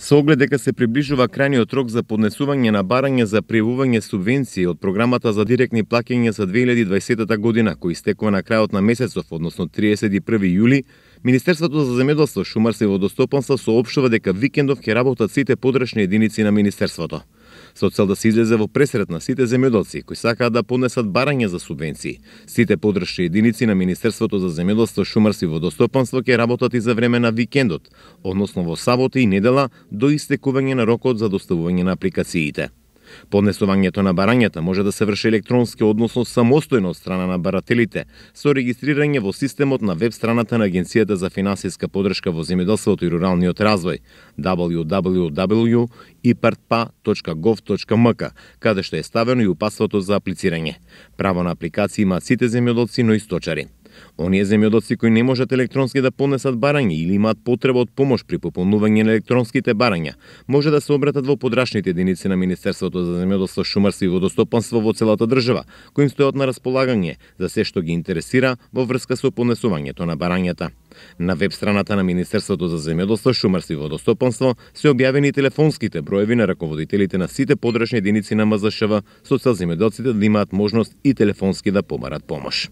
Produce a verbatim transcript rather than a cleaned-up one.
Со оглед дека се приближува крајниот рок за поднесување на барање за пријавување субвенции од програмата за директни плаќања за две илјади и дваесета година, кој истекува на крајот на месецов, односно триесет и први јули, Министерството за земјоделство, шумарство и водостопанство соопштува дека викендов ќе работат сите подрачни единици на Министерството. Со цел да се излезе во пресрет на сите земјоделци кои сакаат да поднесат барање за субвенции, сите подрачни единици на Министерството за земјоделство, шумарство и водостопанство ќе работат и за време на викендот, односно во сабота и недела до истекување на рокот за доставување на апликациите. Поднесувањето на барањата може да се врши електронски, односно самостојно од страна на барателите, со регистрирање во системот на веб страната на Агенцијата за финансиска поддршка во земјоделството и руралниот развој дабл ю дабл ю дабл ю точка и п ар т п а точка гов точка м к, каде што е ставено и упатството за аплицирање. Право на апликација имаат сите земјоделци, но и сточари. Оние земјоделци кои не можат електронски да поднесат барање или имаат потреба од помош при пополнување на електронските барања, може да се обратат во подрачните единици на Министерството за земјоделство, шумарство и водостопанство во целата држава, кои им стојат на располагање за се што ги интересира во врска со поднесувањето на барањата. На веб страната на Министерството за земјоделство, шумарство и водостопанство се објавени телефонските броеви на раководителите на сите подрачни единици на ем зеш в со цел земјоделците да имаат можност и телефонски да побарат помош.